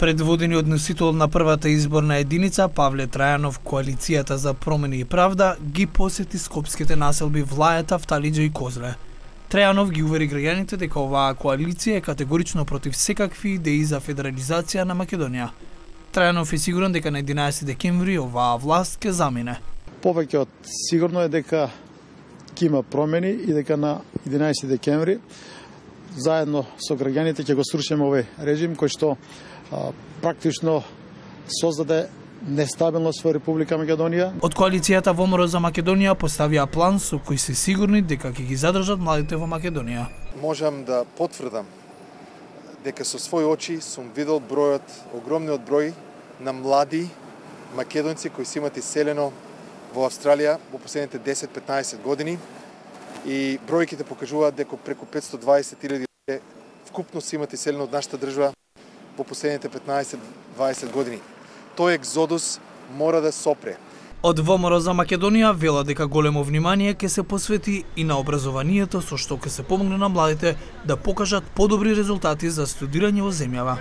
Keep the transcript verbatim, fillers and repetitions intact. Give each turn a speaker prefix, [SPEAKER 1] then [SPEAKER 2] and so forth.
[SPEAKER 1] Предводениот носител на првата изборна единица, Павле Трајанов, Коалицијата за промени и правда, ги посети скопските населби Влајата, Вталиџа и Козле. Трајанов ги увери граѓаните дека оваа коалиција е категорично против секакви идеи за федерализација на Македонија. Трајанов е сигурен дека на единаесети декември оваа власт ќе замине.
[SPEAKER 2] Повеќе од сигурно е дека ќе има промени и дека на единаесети декември заедно со граѓаните ќе го срушиме овој режим кој што а, практично создаде нестабилност во Република Македонија.
[SPEAKER 1] Од коалицијата ВМРО за Македонија поставија план со кој се сигурни дека ќе ги задржат младите во Македонија.
[SPEAKER 3] Можам да потврдам дека со своји очи сум видел бројот, огромниот број на млади македонци кои се имат иселено во Австралија во последните десет-петнаесет години и бројките покажуваат дека преку петстотини и дваесет илјади вкупно се имат иселено од нашата држава во последните петнаесет-дваесет години. Тој екзодус мора да сопре.
[SPEAKER 1] Од ВМРО за Македонија вела дека големо внимание ќе се посвети и на образованието, со што ќе се помогне на младите да покажат подобри резултати за студирање во земјава.